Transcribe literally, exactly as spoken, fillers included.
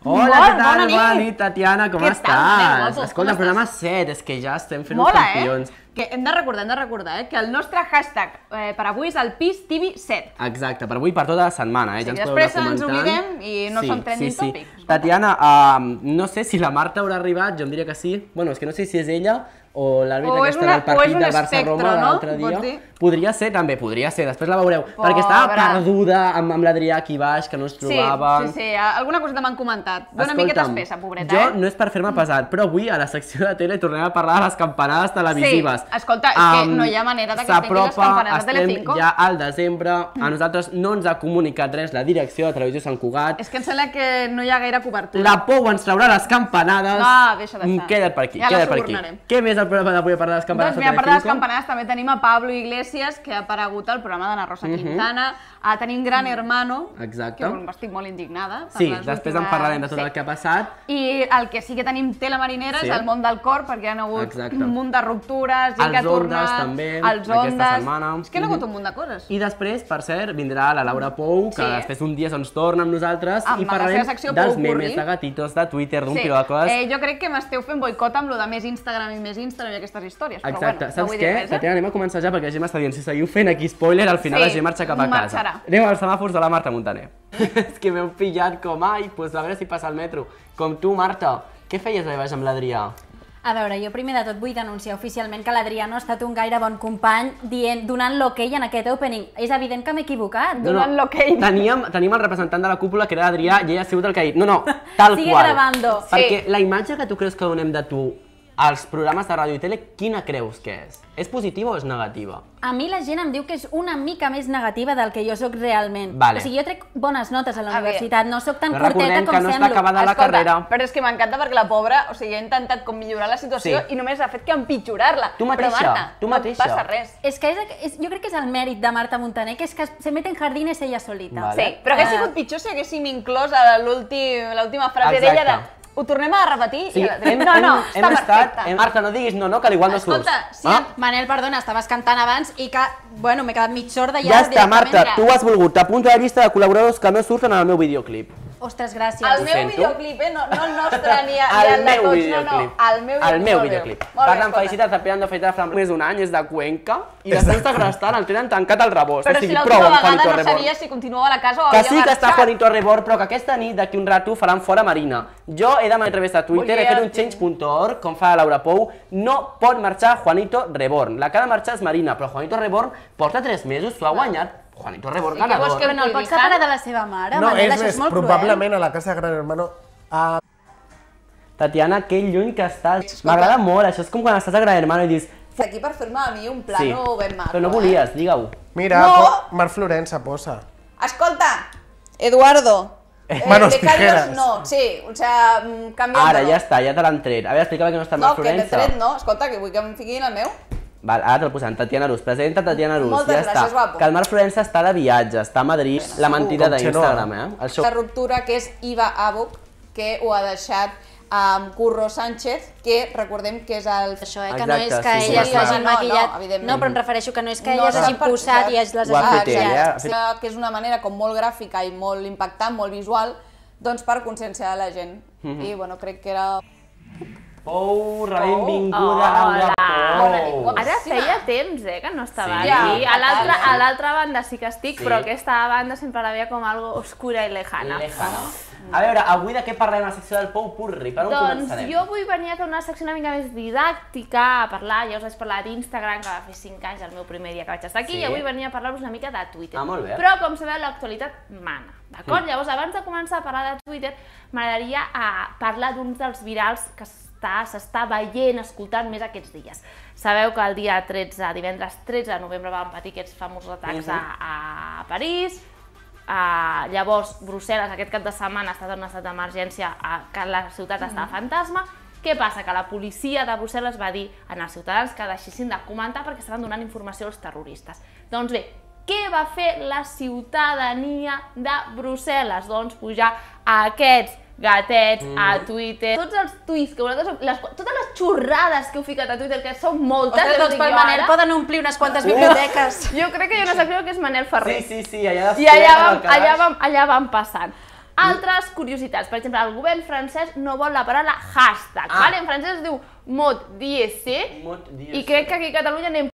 Hola, què tal? Bona nit, Tatiana, com estàs? Escolta, programa set, és que ja estem fent uns campions. Que hem de recordar, hem de recordar, eh, que el nostre hashtag eh, per avui és el P I S T V set. Exacte, per avui, per tota la setmana, eh? Sí, ja després ens oblidem i no sí, som trending sí, sí. topic. Tatiana, uh, no sé si la Marta haurà arribat, jo em diria que sí. Bueno, és que no sé si és ella o l'àrbitre que està del partit del Barça-Roma l'altre dia. Podria ser, també, podria ser, després la veureu. Perquè estava perduda amb l'Adrià aquí baix, que no ens trobàvem. Sí, sí, sí, alguna cosa m'han comentat. Dóna miqueta espessa, pobreta, eh? Jo no és per fer-me pesat, però avui a la secció de tele tornem a parlar de les campanades televisives. Sí, escolta, és que no hi ha manera que es tinguin les campanades de Telecinco. Ja al desembre, a nosaltres no ens ha comunicat res la direcció de Televisió Sant Cugat. És que em sembla que no hi ha gaire cobertura. La Pou ens traurà les campanades. Ah, deixa d'estar. Queda't per aquí, queda't per aquí. Què més al programa d'avui a parlar de les campanades de Telecinco? Doncs mira, a part de les campanades també tenim a Pablo Iglesias, que ha aparegut al programa d'Ana Rosa Quintana. Tenim Gran Hermano, que estic molt indignada. Sí, després en parlarem de tot el que ha passat. I el que sí que tenim tela marinera és el món del cor, perquè hi ha hagut un munt de ruptures, gent que ha tornat, els Ondes... És que hi ha hagut un munt de coses. I després, per cert, vindrà la Laura Pou, que després d'un dia ens torna amb nosaltres i parlarem dels memes, de gatitos, de Twitter, d'un piló de coses. Jo crec que m'esteu fent boicot amb lo de més Instagram i més Instagram i aquestes històries, però bueno, no vull dir res, eh? Tatiana, anem a començar ja perquè la Gemma està dient, si seguiu fent aquí spoiler, al final la Gemma marxa cap a casa. Anem als semàfors de la Marta Montaner. És que m'heu pillat com, ai, doncs a veure si passa el metro. Com tu, Marta, què feies allà baix amb l'Adrià? A veure, jo primer de tot vull denunciar oficialment que l'Adrià no ha estat un gaire bon company donant l'ok en aquest opening. És evident que m'he equivocat. Donant l'ok. Teníem el representant de la cúpula, que era l'Adrià, i ell ha sigut el que ha dit. No, no, tal qual. Sigue grabando. Perquè la imatge que tu creus que donem de tu als programes de ràdio i tele, quina creus que és? És positiva o és negativa? A mi la gent em diu que és una mica més negativa del que jo sóc realment. O sigui, jo trec bones notes a la universitat, no sóc tan curteta com semblo. Recordem que no està acabada la carrera. Però és que m'encanta perquè la pobra, o sigui, ha intentat com millorar la situació i només ha fet que empitjorar-la. Tu mateixa, tu mateixa. No passa res. És que jo crec que és el mèrit de Marta Montaner, que és que se mete en jardines ella solita. Sí, però hauria sigut pitjor si haguéssim inclòs l'última frase d'ella de ho tornem a repetir? No, no, està perfecte. Marta, no diguis no, no, que l'igual no surts. Escolta, sí, Manel, perdona, estaves cantant abans i que, bueno, m'he quedat mig sorda ja està, Marta, tu has volgut apuntar la llista de col·laboradors que no surten en el meu videoclip. Ostres, gràcies. El meu videoclip, eh? No el nostre ni el de tots, no, no. El meu videoclip. Per tant, felicitats a Pirando Feita de Flam. Més d'un any, és de Cuenca, i després d'Agrestant el tenen tancat al rebost. Però si l'última vegada no sabia si continuava a la casa o havia marxat. Que sí que està Juanito Rebord, però que aquesta nit, d'aquí un rato, faran fora Marina. Jo he demanat a través de Twitter, he fet un change punt org, com fa la Laura Pou, no pot marxar Juanito Rebord. La que ha de marxar és Marina, però Juanito Rebord porta tres mesos, s'ho ha guanyat. Juanito Rebord ganador. Que no el pots separar de la seva mare, no, és més, probablement a la casa de Gran Hermano... Tatiana, que lluny que estàs. M'agrada molt, això és com quan estàs a Gran Hermano i dius... Aquí per fer-me a mi un plano ben maco. Però no volies, digue-ho. Mira, Marc Florença posa. Escolta, Eduardo. Manos tijeras. No, sí, o sea, canvia... Ara, ja està, ja te l'han tret. A veure, explica'm que no està Marc Florença. No, que t'he tret no, escolta, que vull que em fiquin el meu. Val, ara te'l posem, Tatiana Rus, presenta Tatiana Rus, ja està. Que el Marc Florença està de viatge, està a Madrid, la mentida d'Instagram, eh? La ruptura que és Iva Abuc, que ho ha deixat amb Curro Sánchez, que recordem que és el... Això, eh, que no és que ella s'hagi maquillat... No, però em refereixo que no és que ella s'hagi posat i les hagi maquillat. Que és una manera com molt gràfica i molt impactant, molt visual, doncs per conscienciar la gent. I, bueno, crec que era... Pou, benvinguda amb la Pou. Ara feia temps, eh, que no estava aquí. A l'altra banda sí que estic, però aquesta banda sempre la veia com algo oscura i lejana. A veure, avui de què parlem a la secció del Pou Purri? Per on començarem? Doncs jo avui venia a fer una secció una mica més didàctica, a parlar, ja us vaig parlar d'Instagram, que va fer cinc anys el meu primer dia que vaig estar aquí, i avui venia a parlar-vos una mica de Twitter. Ah, molt bé. Però, com sabeu, l'actualitat mana, d'acord? Llavors, abans de començar a parlar de Twitter, m'agradaria parlar d'uns dels virals que s'està veient, escoltant més aquests dies. Sabeu que el dia tretze, divendres tretze de novembre, vam patir aquests famosos atacs a París. Llavors, Brussel·les aquest cap de setmana ha estat en un estat d'emergència, que la ciutat estava fantasma. Què passa? Que la policia de Brussel·les va dir als ciutadans que deixessin de comentar perquè estaven donant informació als terroristes. Doncs bé, què va fer la ciutadania de Brussel·les? Doncs pujar a aquests gatets a Twitter, tots els tuits que vosaltres... totes les xorrades que heu ficat a Twitter, que són moltes... Ostres, doncs pel Manel poden omplir unes quantes biblioteques. Jo crec que hi ha una secció que és Manel Ferrer. Sí, sí, sí, allà I allà vam passant. Altres curiositats, per exemple, el govern francès no vol la paraula hashtag, en francès es diu mot d'I S C i crec que aquí a Catalunya anem